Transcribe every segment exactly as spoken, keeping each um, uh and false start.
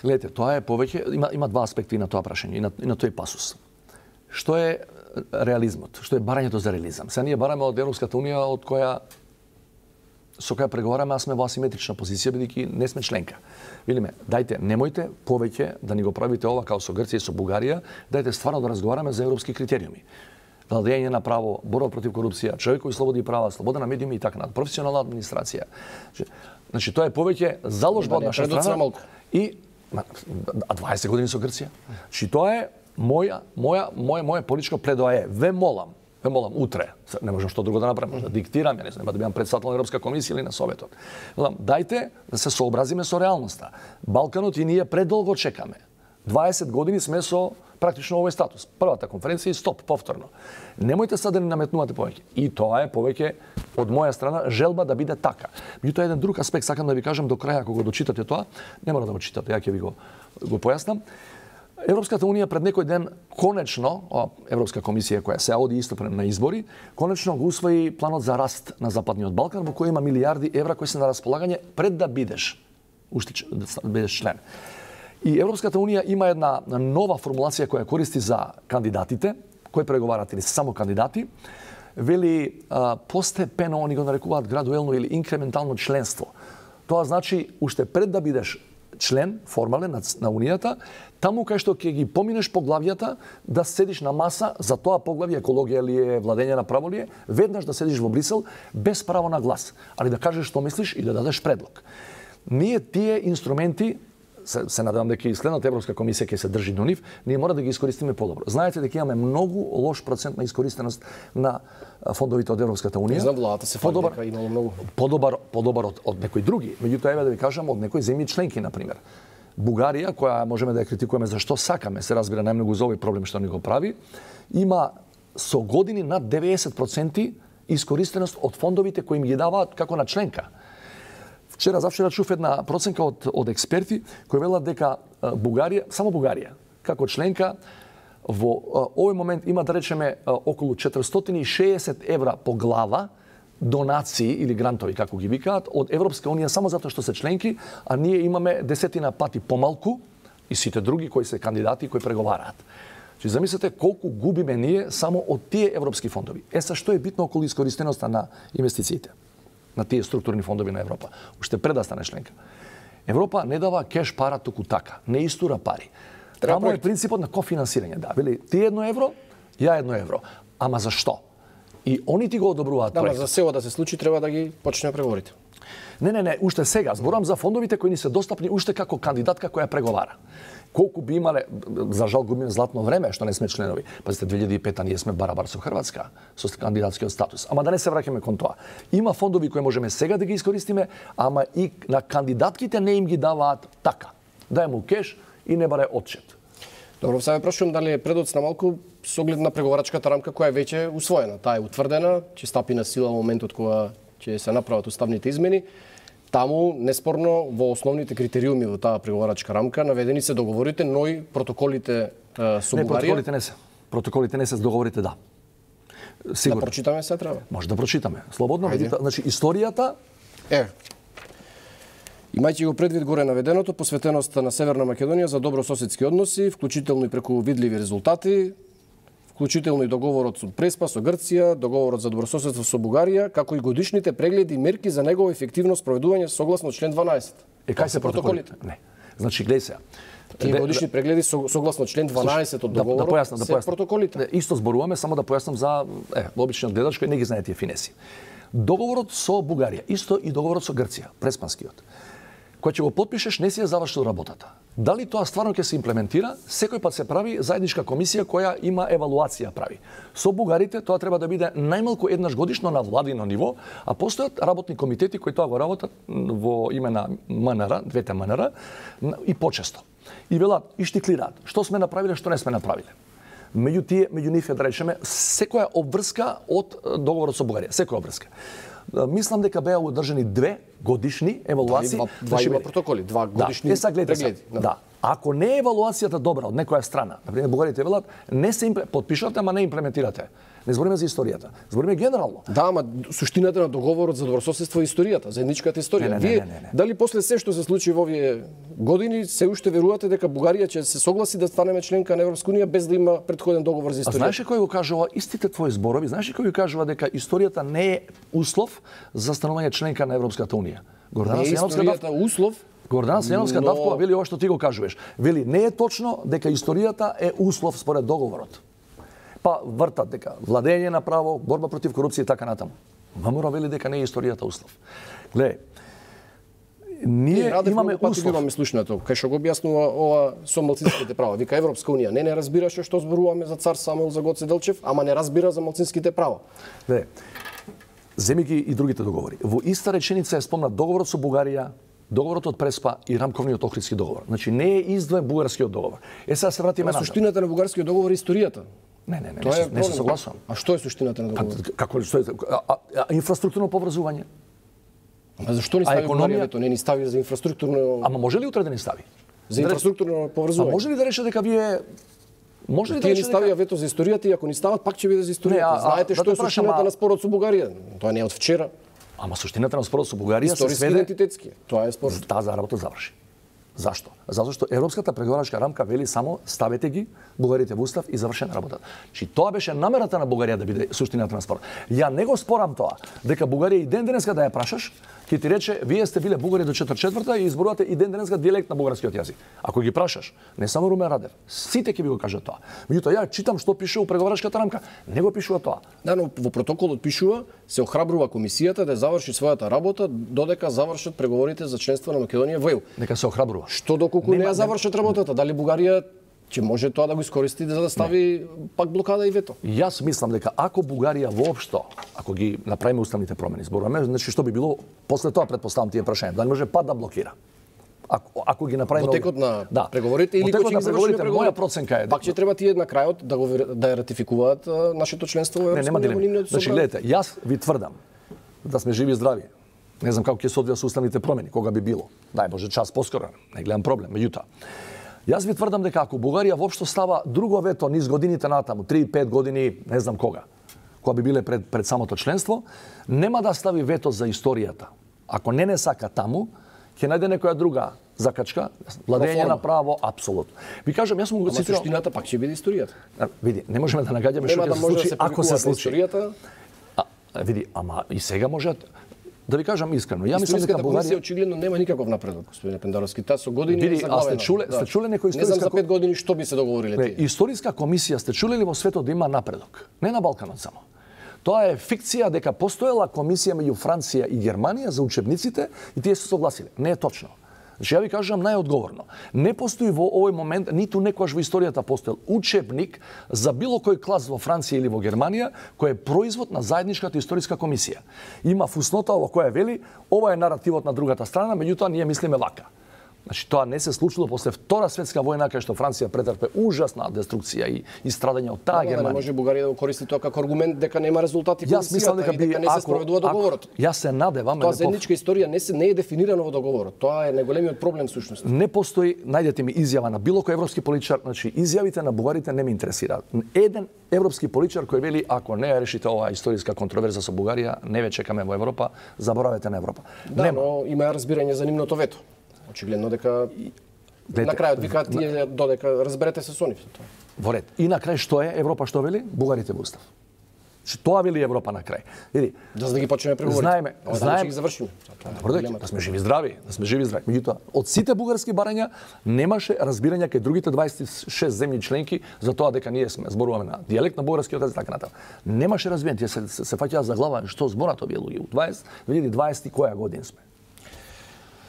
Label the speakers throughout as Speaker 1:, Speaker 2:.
Speaker 1: Гледате, тоа е повеќе, има, има два аспекти на тоа прашање и на, и на тој пасус. Што е реализмот? Што е барањето за реализам? Сега ние бараме од Европската унија од која со која преговараме, а сме во асиметрична позиција, бидејќи не сме членка. Велиме, дајте, немојте повеќе да ни го правите ова као со Грција и со Бугарија, дајте стварно да разговараме за европски критериуми. Владење на право, борба против корупција, човекови слободи и права, слобода на медиуми и така натаму, професионална администрација. Значи, тоа е повеќе заложба од наша страна и а дваесет години со Грција. Значи, тоа е моја моја моја моја политичко пледоае. Ве молам, ве молам утре, не можам што друго да направам, да диктирам, ја не знам, да бидам председател на Европска комисија или на Советот. Молам, дајте да се сообразиме со реалноста. Балканот и ние предолго чекаме. дваесет години сме со практично овој статус. Првата конференција и стоп, повторно. Немојте сега да ни наметнувате повеќе. И тоа е повеќе од моја страна желба да биде така. Меѓутоа еден друг аспект сакам да ви кажам до краја, кога го дочитате тоа, не мора да го читате, ја ќе ви го го појаснам. Европската унија пред некој ден конечно, Европска комисија која се оди исто на избори, конечно го усвои планот за раст на Западниот Балкан, во кој има милиарди евра кои се на располагање пред да бидеш уште да бидеш член. И Европската унија има една нова формулација која користи за кандидатите, кои преговарат или само кандидати, вели а, постепено, они го нарекуваат градуелно или инкрементално членство. Тоа значи уште пред да бидеш член формален на, на унијата, таму кај што ќе ги поминеш поглавјата, да седиш на маса за тоа поглавје, екологија ли е, владење на право ли е, веднаш да седиш во Брисел без право на глас, али да кажеш што мислиш и да дадеш предлог. Ние тие инструменти се, се надевам дека и следната Европска комисија ќе се држи до нив, ние мора да ги искористиме подобро. Знаете дека имаме многу лош процент на искористеност на фондовите од Европската унија.
Speaker 2: За владата се фали дека имало многу.
Speaker 1: Подобар, подобар од, од некои други. Меѓутоа еве да ви кажам од некои земји членки на пример. Бугарија, која можеме да ја критикуваме зашто сакаме, се разбира најмногу за овој проблем што ни го прави, има со години над деветдесет проценти искористеност од фондовите кои им ги даваат како на членка. Вчера завчера чув една проценка од од експерти кои велат дека Бугарија, само Бугарија, како членка во овој момент има да речеме околу четиристотини и шеесет евра по глава донации или грантови како ги викаат од Европска унија само затоа што се членки, а ние имаме десетина пати помалку и сите други кои се кандидати кои преговараат. Значи замислете колку губиме ние само од тие европски фондови. Е са што е битно околу искористеноста на инвестициите на тие структурни фондови на Европа, уште пред да стане членка. Европа не дава кеш пара туку така, не истура пари. Таму е принципот на кофинансирање, да, вели ти едно евро, ја едно евро. Ама зашто? И они ти го одобруваат
Speaker 2: да,
Speaker 1: проектот.
Speaker 2: За сео да се случи треба да ги почне преговорите.
Speaker 1: Не, не, не, уште сега зборам за фондовите кои ни се достапни уште како кандидатка која преговара. Колку би имале, за жал губиме златно време што не сме членови. Пазите, две илјади и пета ние сме барабар со Хрватска со кандидатскиот статус. Ама да не се враќаме кон тоа. Има фондови кои можеме сега да ги искористиме, ама и на кандидатките не им ги даваат така. Дај му кеш и не баре отчет.
Speaker 2: Добро, сега прашувам дали е предоцна малку со оглед на преговарачката рамка која е веќе усвоена. Таа е утврдена, ќе стапи на сила во моментот кога ќе се направат уставните измени. Таму, неспорно, во основните критериуми во таа преговарачка рамка наведени се договорите, но и протоколите е, со
Speaker 1: не,
Speaker 2: Бугарија.
Speaker 1: протоколите не се. Протоколите не се, договорите да. Сигурно.
Speaker 2: Да прочитаме се треба.
Speaker 1: Може да прочитаме. Слободно, видите, значи историјата
Speaker 2: е Имајќи го предвид горе наведеното, посветеноста на Северна Македонија за добрососедски односи, вклучително и преку видливи резултати, вклучително и договорот со Преспа со Грција, договорот за добрососедство со Бугарија, како и годишните прегледи и мерки за негово ефективно спроведување согласно член дванаесет.
Speaker 1: Е, кај се протоколите? Не. Значи, гледај се.
Speaker 2: Тие годишни прегледи согласно член дванаесет од договорот
Speaker 1: да, да појаснам, да
Speaker 2: се
Speaker 1: појаснам.
Speaker 2: протоколите.
Speaker 1: Исто зборуваме, само да појаснам за е, обичниот гледач кој не ги знае тие финеси. Договорот со Бугарија, исто и договорот со Грција, преспанскиот. Кој ќе го подпишеш, не си ја завршил работата. Дали тоа стварно ќе се имплементира? Секој пат се прави заедничка комисија која има евалуација прави. Со бугарите тоа треба да биде најмалку еднаш годишно на владино ниво, а постојат работни комитети кои тоа го работат во име на МНР, двете МНР, и почесто. И велат, и штиклираат, што сме направиле, што не сме направиле. Меѓу тие, меѓу нив е да речеме, секоја обврска од договорот со Бугарија, секоја обврска. Мислам дека беа одржани две годишни евалуации.
Speaker 2: Два, два има протоколи, два годишни
Speaker 1: да. Е, гледате,
Speaker 2: прегледи.
Speaker 1: Да. да. Ако не е евалуацијата добра од некоја страна, например бугарите велат, не се импле... подпишувате, ама не имплементирате. Не збориме за историјата. Збориме генерално.
Speaker 2: Да, ама суштината на договорот за добрососедство е историјата, заедничката историја.
Speaker 1: Не, не,
Speaker 2: Вие
Speaker 1: не, не, не.
Speaker 2: дали после се што се случи во овие години се уште верувате дека Бугарија ќе се согласи да станеме членка на Европска унија без да има претходен договор за
Speaker 1: А
Speaker 2: историјата?
Speaker 1: знаеш ли кој го кажува истите твои зборови? Знаеш ли кој го кажува дека историјата не е услов за станување членка на Европската унија? Гордана
Speaker 2: Не е
Speaker 1: Сијановска
Speaker 2: историјата услов.
Speaker 1: Гордана Сијановска
Speaker 2: но-
Speaker 1: Давкова вели ова што ти го кажуваш. Вели не е точно дека историјата е услов според договорот. Па вртат дека владење на право, борба против корупција и така натаму. ВМРО вели дека не е историјата услов. Гледај, ние
Speaker 2: Радев
Speaker 1: имаме
Speaker 2: многу пати
Speaker 1: услов.
Speaker 2: биваме слушнато, кај што го објаснува ова со малцинските права. Вика Европска унија не не разбираше што зборуваме за цар Самуил, за Гоце Делчев, ама не разбира за малцинските права.
Speaker 1: Гледај, земи ги и другите договори. Во иста реченица е спомнат договорот со Бугарија, договорот од Преспа и рамковниот Охридски договор. Значи не е издвоен бугарскиот договор. Е сега се вратиме
Speaker 2: На
Speaker 1: назад.
Speaker 2: суштината на бугарскиот договор е историјата.
Speaker 1: Не, не, не,
Speaker 2: Тоа
Speaker 1: не,
Speaker 2: е
Speaker 1: се- не се
Speaker 2: проблем.
Speaker 1: согласувам.
Speaker 2: А што е суштината на
Speaker 1: Па,
Speaker 2: договорот?
Speaker 1: како ли што е? А, а, а, инфраструктурно поврзување.
Speaker 2: Ама зашто ни
Speaker 1: А
Speaker 2: стави
Speaker 1: економија?
Speaker 2: Бугарија вето? Не ни стави за инфраструктурно
Speaker 1: Ама може ли утре да ни стави?
Speaker 2: за
Speaker 1: Да рече-
Speaker 2: инфраструктурно
Speaker 1: А
Speaker 2: поврзување?
Speaker 1: може ли да рече дека вие може ли да
Speaker 2: Тие ни
Speaker 1: рече
Speaker 2: ставија
Speaker 1: дека
Speaker 2: вето за историјата и ако ни стават пак ќе биде за
Speaker 1: Не,
Speaker 2: историјата.
Speaker 1: а- а,
Speaker 2: Знаете
Speaker 1: да
Speaker 2: што
Speaker 1: те
Speaker 2: е
Speaker 1: прашам,
Speaker 2: суштината
Speaker 1: а-
Speaker 2: на спорот со Бугарија? Тоа не е од вчера.
Speaker 1: Ама суштината на спорот со Бугарија се
Speaker 2: Историски
Speaker 1: сведе
Speaker 2: идентитетски. Тоа е спорот.
Speaker 1: таа работа заврши. Зашто? Затоа што европската преговарачка рамка вели само ставете ги бугарите во устав и завршена работата. Чи тоа беше намерата на Бугарија да биде суштината на спорот. Ја не го спорам тоа, дека Бугарија и ден денеска да ја прашаш, ќе ти рече вие сте биле бугари до четврт четврта и изборувате и ден денеска дијалект на бугарскиот јазик. Ако ги прашаш, не само Румен Радев, сите ќе ви го кажат тоа. Меѓутоа ја читам што пише у преговарачката рамка, не го пишува тоа.
Speaker 2: Да, но во протоколот пишува се охрабрува комисијата да заврши својата работа додека завршат преговорите за членство на Македонија во Е У.
Speaker 1: Нека се охрабрува.
Speaker 2: Што доколку не ја завршат работата, дали Бугарија ќе може тоа да го искористи за да стави пак блокада и вето?
Speaker 1: Јас мислам дека ако Бугарија воопшто, ако ги направиме уставните промени, зборуваме, значи што би било после тоа претпоставам тие прашања, дали може пат да блокира. Ако ако ги направиме
Speaker 2: Во текот на
Speaker 1: да.
Speaker 2: преговорите или
Speaker 1: Во текот
Speaker 2: кога ќе
Speaker 1: на
Speaker 2: ги завршиме
Speaker 1: преговорите,
Speaker 2: преговорите?
Speaker 1: моја проценка е
Speaker 2: Пак ќе треба тие на крајот да го вер- да ја ратификуваат а, нашето членство во
Speaker 1: не
Speaker 2: Европска
Speaker 1: нема
Speaker 2: унија во
Speaker 1: дилема.
Speaker 2: нивното
Speaker 1: Значи
Speaker 2: собрание.
Speaker 1: гледате, јас ви тврдам да сме живи и здрави. Не знам како ќе се одвија со уставните промени, кога би било. Дај Боже час поскоро, не гледам проблем, меѓутоа. Јас ви тврдам дека ако Бугарија воопшто става друго вето низ годините натаму, три пет години, не знам кога, кога би биле пред пред самото членство, нема да стави вето за историјата. Ако не не сака таму, ќе најде некоја друга закачка, владење
Speaker 2: Проформа.
Speaker 1: на право, апсолутно. Ви кажам, јас сум го
Speaker 2: Ама
Speaker 1: цитирал.
Speaker 2: суштината пак ќе биде историјата.
Speaker 1: А, Види, не можеме да нагаѓаме што
Speaker 2: Нема
Speaker 1: ќе
Speaker 2: да
Speaker 1: се
Speaker 2: може да
Speaker 1: случи
Speaker 2: се
Speaker 1: ако се
Speaker 2: повикува
Speaker 1: случи.
Speaker 2: историјата.
Speaker 1: А, а, види, ама и сега може да ви кажам искрено. Ја мислам дека
Speaker 2: Историската комисија
Speaker 1: Бугарија
Speaker 2: очигледно нема никаков напредок, господине Пендаровски. Таа со години
Speaker 1: Види,
Speaker 2: е
Speaker 1: а
Speaker 2: заглавена.
Speaker 1: сте чуле- сте чуле некој
Speaker 2: Не знам
Speaker 1: историска
Speaker 2: за пет години што би се договориле
Speaker 1: Не,
Speaker 2: тие.
Speaker 1: историска комисија сте чуле ли во светот да има напредок? Не на Балканот само. Тоа е фикција дека постоела комисија меѓу Франција и Германија за учебниците и тие се согласиле. Не е точно. Значи ја ви кажам најодговорно. Не постои во овој момент, ниту некојаш во историјата постоел учебник за било кој клас во Франција или во Германија кој е производ на заедничката историска комисија. Има фуснота во која вели ова е наративот на другата страна, меѓутоа ние мислиме вака. Значи тоа не се случило после Втора светска војна кај што Франција претрпе ужасна деструкција и, и страдање од таа
Speaker 2: Ама да не
Speaker 1: Германија.
Speaker 2: може Бугарија да го користи тоа како аргумент дека нема резултати
Speaker 1: Јас мислам дека
Speaker 2: и
Speaker 1: би
Speaker 2: дека не се спроведува договорот.
Speaker 1: Јас се надевам
Speaker 2: Тоа
Speaker 1: не, по-
Speaker 2: заедничка историја не се не е дефинирано во договорот. Тоа е најголемиот проблем всушност.
Speaker 1: не постои, најдете ми изјава на било кој европски политичар, значи изјавите на бугарите не ме интересираат. Еден европски политичар кој вели ако не ја решите оваа историска контроверза со Бугарија, не ве чекаме во Европа, заборавете на Европа.
Speaker 2: Да,
Speaker 1: Нема.
Speaker 2: но има разбирање за нивното вето. Очигледно дека
Speaker 1: Гледате,
Speaker 2: на крајот викаат тие додека разберете се со нив.
Speaker 1: во ред. И на крај што е Европа што вели? Бугарите во устав. Значи тоа вели Европа на крај. Види,
Speaker 2: Да за да ги почнеме преговорите.
Speaker 1: знаеме,
Speaker 2: Ова дали
Speaker 1: знаеме
Speaker 2: ќе ги завршиме. Тоа е
Speaker 1: Добро дојде,
Speaker 2: проблемот.
Speaker 1: да сме живи и здрави, да сме живи и здрави. Меѓутоа, од сите бугарски барања немаше разбирање кај другите дваесет и шест земји членки за тоа дека ние сме зборуваме на дијалект на бугарскиот език така натаму. Немаше разбирање, тие се се, се фаќаа за глава што зборат овие луѓе. У дваесет две илјади и дваесети која година сме?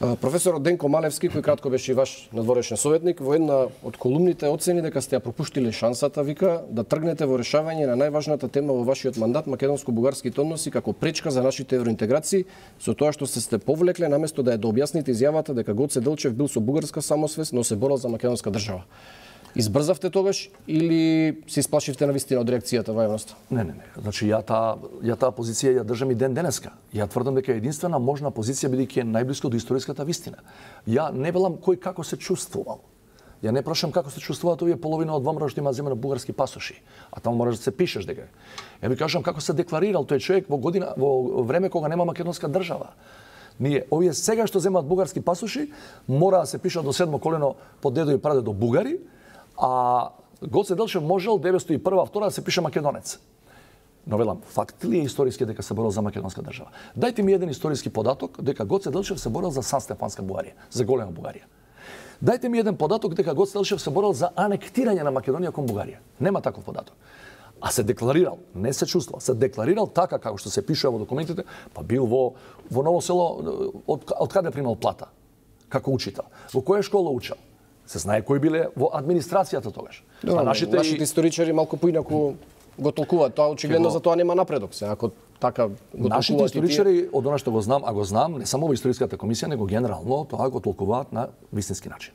Speaker 2: А, Професорот Денко Малевски, кој кратко беше и ваш надворешен советник, во една од колумните оцени дека сте ја пропуштиле шансата, вика, да тргнете во решавање на најважната тема во вашиот мандат, македонско-бугарските односи, како пречка за нашите евроинтеграции, со тоа што се сте повлекле наместо да ја дообјасните изјавата дека Гоце Делчев бил со бугарска самосвест, но се борел за македонска држава. Избрзавте тогаш или се исплашивте на вистина од реакцијата во јавноста?
Speaker 1: Не, не, не. Значи ја таа ја таа позиција ја држам и ден денеска. Ја тврдам дека е единствена можна позиција бидејќи е најблиско до историската вистина. Ја не велам кој како се чувствувал. Ја не прашам како се чувствуваат овие половина од ВМРО што има земено бугарски пасоши, а таму можеш да се пишеш дека. Ја ви кажам како се декларирал тој човек во година во време кога нема македонска држава. Ние овие сега што земаат бугарски пасоши мора да се пишат до седмо колено по дедо и прадедо бугари, а Гоце Делчев можел деветстотини и прва втора да се пише македонец. Но велам, факт ли е историски дека се борел за македонска држава? Дајте ми еден историски податок дека Гоце Делчев се борел за Сан-Стефанска Бугарија, за голема Бугарија. Дајте ми еден податок дека Гоце Делчев се борел за анектирање на Македонија кон Бугарија. Нема таков податок. А се декларирал, не се чувствувал, се декларирал така како што се пишува во документите, па бил во во Ново село од, од каде примал плата како учител. Во која школа учел? Се знае кои биле во администрацијата тогаш.
Speaker 2: Добре, а нашите, нашите и... историчари малку поинаку го толкуваат. Тоа очигледно за тоа нема напредок се. Ако така го толкуваат.
Speaker 1: Нашите историчари, од она што го знам, а го знам, не само во историската комисија, него генерално, тоа го толкуваат на вистински начин.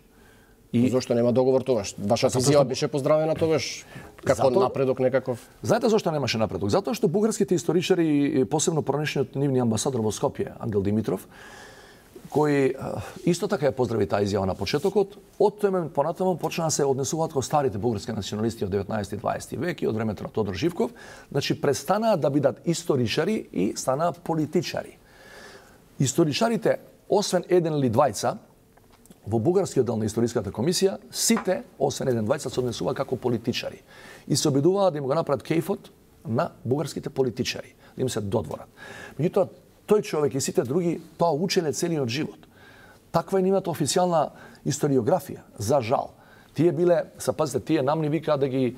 Speaker 2: И зошто нема договор тогаш? Вашата изјава беше поздравена тогаш како Зато... напредок некаков.
Speaker 1: Знаете зошто немаше напредок? Затоа што бугарските историчари, посебно пронешниот нивни амбасадор во Скопје, Ангел Димитров, кој исто така ја поздрави таа изјава на почетокот, од тој момент понатаму почна да се однесуваат кон старите бугарски националисти од деветнаесети и дваесети век и од времето на Тодор Живков, значи престанаа да бидат историчари и станаа политичари. Историчарите, освен еден или двајца, во бугарскиот дел на историската комисија, сите, освен еден двајца, се однесува како политичари. И се обидуваа да им го направат кејфот на бугарските политичари, да им се додворат. Меѓутоа, тој човек и сите други тоа учеле целиот живот. Таква е нивната официјална историографија, за жал. Тие биле, са пазите, тие нам ни викаат да ги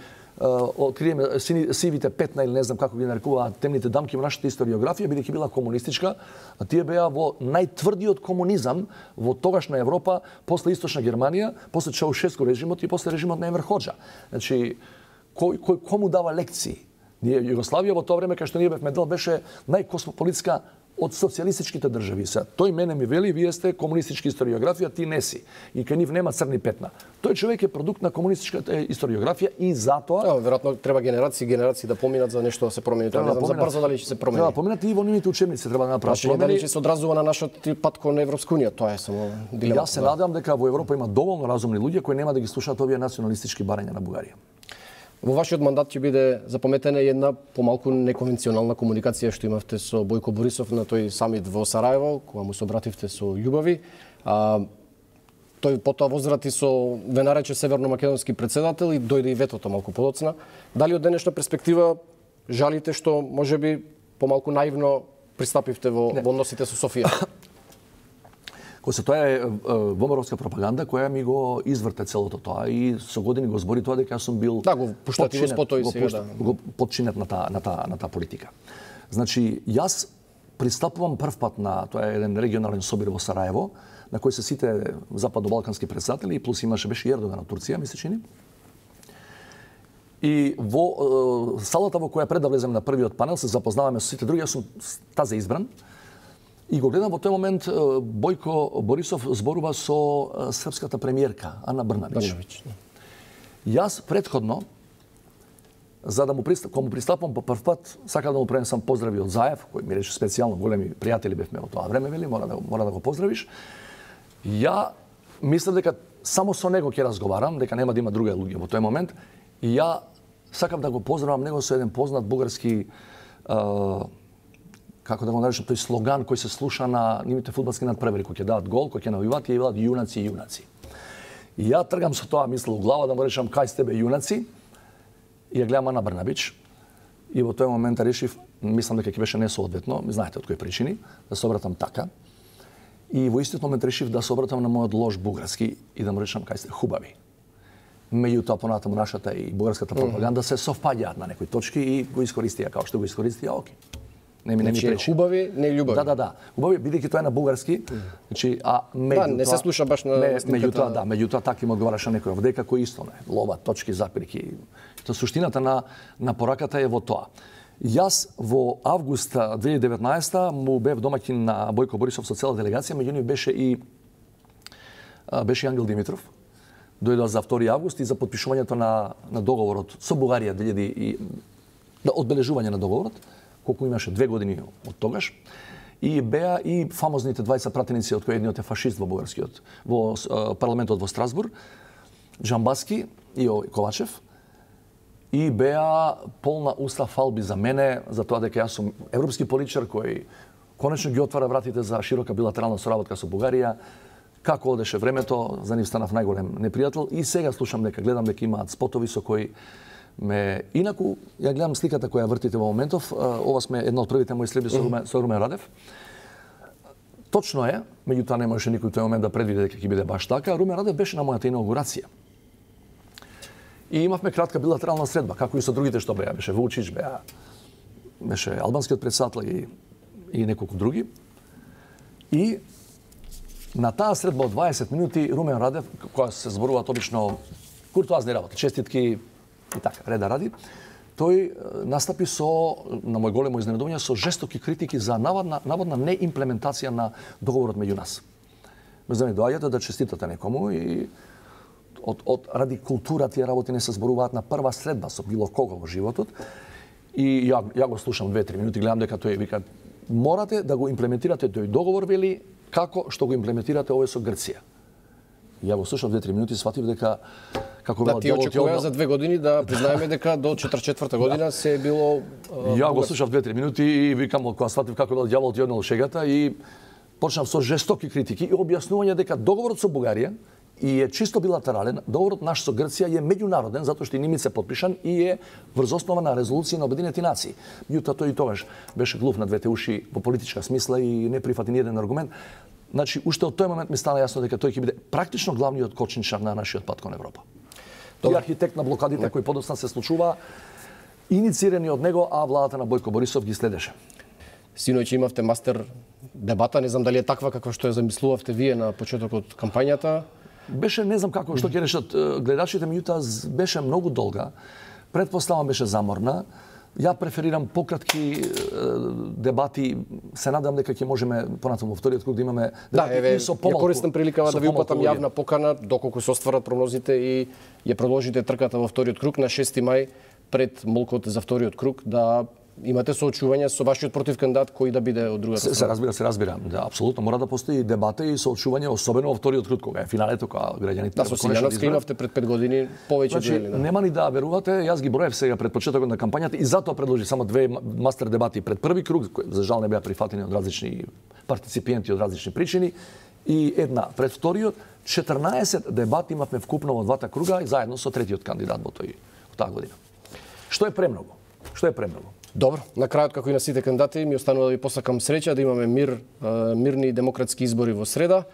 Speaker 1: откриеме сивите петна или не знам како ги нарекуваат темните дамки во нашата историографија, бидејќи била комунистичка, а тие беа во најтврдиот комунизам во тогашна Европа, после Источна Германија, после Чаушеску режимот и после режимот на Енвер Хоџа. Значи, кој, кој кому дава лекции? Ние Југославија во тоа време кај што ние бевме дел беше најкосмополитска од социјалистичките држави. Се, тој мене ми вели, вие сте комунистички историографија, ти не си. И кај нив нема црни петна. Тој човек е продукт на комунистичката историографија и затоа...
Speaker 2: Да, веројатно треба генерации и генерации да поминат за нешто да се промени. Тоа не знам за брзо дали ќе се промени.
Speaker 1: Треба да поминат и во нивните учебници треба да направат промени.
Speaker 2: Дали ќе се одразува на нашот пат кон Европска унија, тоа е само дилема.
Speaker 1: Јас се надевам дека во Европа има доволно разумни луѓе кои нема да ги слушаат овие националистички барања на Бугарија.
Speaker 2: Во вашиот мандат ќе биде запаметена една помалку неконвенционална комуникација што имавте со Бојко Борисов на тој самит во Сараево, кога му се обративте со љубови. А, тој потоа возврати со ве нарече северно-македонски председател и дојде и ветото малку подоцна. Дали од денешна перспектива жалите што можеби помалку наивно пристапивте во, во односите со Софија?
Speaker 1: Кој се тоа е ВМРО-вска пропаганда која ми го изврте целото тоа и со години го збори тоа дека јас сум бил
Speaker 2: да, го пуштати во спото и сега да.
Speaker 1: Го подчинет на таа на таа на таа политика. Значи јас пристапувам прв пат на тоа е еден регионален собир во Сараево на кој се сите западно-балкански председатели и плюс имаше беше Ердоган од Турција, ми се чини. И во салата во која пред да влезем на првиот панел се запознаваме со сите други, јас сум таза избран. И го гледам во тој момент Бојко Борисов зборува со српската премиерка Ана Брнабич. Брнабич. Јас претходно, за да му пристап, кога му пристапам по прв пат, сакам да му пренесам поздрави од Заев, кој ми рече специјално, големи пријатели бевме во тоа време, вели, мора да, мора да го поздравиш. Ја мислев дека само со него ќе разговарам, дека нема да има други луѓе во тој момент. И ја сакам да го поздравам него со еден познат бугарски како да го наречам, тој слоган кој се слуша на нивните фудбалски надпревари, кој ќе дадат гол, кој ќе навиваат и ја велат јунаци, јунаци. И ја тргам со тоа мисла у глава да му речам кај сте бе јунаци, и ја гледам Ана Брнабич, и во тој момент решив, мислам дека ќе беше несоодветно, знаете од кои причини, да се обратам така. И во истиот момент решив да се обратам на мојот лош бугарски и да му речам кај сте хубави. Меѓутоа понатаму нашата и бугарската пропаганда се совпаѓаат на некои точки и го искористија како што го искористија, оке. Не ми не ми пречи.
Speaker 2: Хубави, не љубави.
Speaker 1: Да, да, да. Хубави, бидејќи тоа е на бугарски. Значи, а меѓутоа...
Speaker 2: Да, не се слуша баш на
Speaker 1: не, меѓутоа, да, меѓутоа така им одговараше некој овдека кој исто не. Лова, точки, запирки. Тоа суштината на на пораката е во тоа. Јас во август две илјади и деветнаесета му бев домаќин на Бојко Борисов со цела делегација, меѓу нив беше и беше и Ангел Димитров. Дојдоа за втори август и за потпишувањето на на договорот со Бугарија две илјади и да одбележување на договорот, колку имаше две години од тогаш. И беа и фамозните двајца пратеници од кои едниот е фашист во бугарскиот во парламентот во Страсбург. Джамбаски и Ковачев и беа полна уста фалби за мене, за тоа дека јас сум европски политичар кој конечно ги отвара вратите за широка билатерална соработка со Бугарија. Како одеше времето, за нив станав најголем непријател и сега слушам дека гледам дека имаат спотови со кои ме инаку ја гледам сликата која вртите во моментов. Ова сме една од првите мои средби со Румен, со Румен Радев. Точно е, меѓутоа не можеше никој тој момент да предвиди дека ќе биде баш така. Румен Радев беше на мојата инаугурација. И имавме кратка билатерална средба, како и со другите што беа. Беше Вучич, беа, беше албанскиот претседател и, и неколку други. И на таа средба од дваесет минути Румен Радев, која се зборуваат обично куртоазни работи, честитки и така, реда ради, тој настапи со, на мој големо изненадување, со жестоки критики за наводна, наводна неимплементација на договорот меѓу нас. Меѓу доаѓате да честитате некому и од, од ради култура тие работи не се зборуваат на прва средба со било кого во животот. И ја, ја го слушам две-три минути, гледам дека тој вика морате да го имплементирате тој договор, вели, како што го имплементирате овој со Грција. И ја го слушав две-три минути и сватив дека како
Speaker 2: да, ти очекува за две години да признаеме дека до четиридесет и четврта година се е било
Speaker 1: uh, Ја го слушав две-три минути и викам кога сватив како бил ѓаволот јаднал шегата и почнав со жестоки критики и објаснување дека договорот со Бугарија и е чисто билатерален, договорот наш со Грција е меѓународен затоа што и нимиц е подпишан и е врз основа на резолуција на Обединените нации. Меѓутоа тој и тогаш беше глув на двете уши во политичка смисла и не прифати ни еден аргумент. Значи, уште од тој момент ми стана јасно дека тој ќе биде практично главниот кочничар на нашиот пат кон Европа. Тој е архитект на блокадите кои подоцна се случува, иницирани од него, а владата на Бојко Борисов ги следеше.
Speaker 2: Синоќ имавте мастер дебата, не знам дали е таква каква што ја замислувавте вие на почетокот кампањата.
Speaker 1: Беше, не знам како, што ќе решат гледачите, меѓутоа беше многу долга. Предпоставам беше заморна. Ја преферирам пократки дебати. Се надам дека ќе можеме понатаму во вториот круг да имаме
Speaker 2: дебати да, еве,
Speaker 1: и со помалку.
Speaker 2: Ја користам приликава да ви упатам јавна покана доколку се остварат прогнозите и ја продолжите трката во вториот круг на шести мај пред молкот за вториот круг да имате соочување со вашиот противкандидат кој да биде од другата
Speaker 1: страна. Се, се разбира, се разбира. Да, апсолутно мора да постои дебата и соочување, особено во вториот круг кога е финалето, кога граѓаните
Speaker 2: да, со Силјановска имавте пред пет години повеќе
Speaker 1: значи,
Speaker 2: дуели. Да.
Speaker 1: Нема ни да верувате, јас ги броев сега пред почетокот на кампањата и затоа предложи само две мастер дебати пред први круг, кои за жал не беа прифатени од различни партиципенти од различни причини и една пред вториот, четрнаесет дебати имавме вкупно во двата круга и заедно со третиот кандидат во тој во таа година. Што е премногу? Што е премногу?
Speaker 2: Добро, на крајот како и на сите кандидати ми останува да ви посакам среќа да имаме мир, мирни и демократски избори во среда.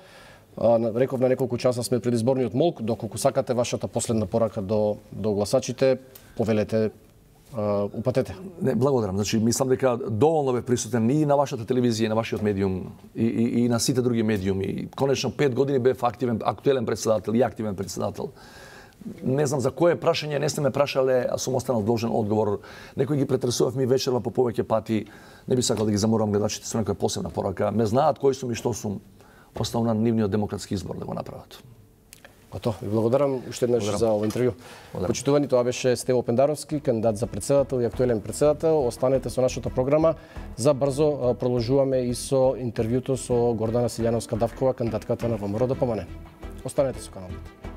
Speaker 2: Реков на неколку часа сме пред изборниот молк, доколку сакате вашата последна порака до до гласачите, повелете, упатете.
Speaker 1: Не, благодарам. Значи мислам дека доволно бе присутен и на вашата телевизија, и на вашиот медиум и, и, и на сите други медиуми. Конечно пет години бев активен, актуелен председател и активен председател. Не знам за кое прашање не сте ме прашале, а сум останал должен одговор. Некои ги претресував ми вечерва по повеќе пати. Не би сакал да ги заморам гледачите со некоја посебна порака. Ме знаат кој сум и што сум. Оставам на нивниот демократски избор да го направат.
Speaker 2: Готово. Ви благодарам уште еднаш за овој интервју. Почитувани, тоа беше Стево Пендаровски, кандидат за председател и актуелен председател. Останете со нашата програма. За брзо продолжуваме и со интервјуто со Гордана Силјановска-Давкова, кандидатката на ВМРО ДПМН. Останете со каналот.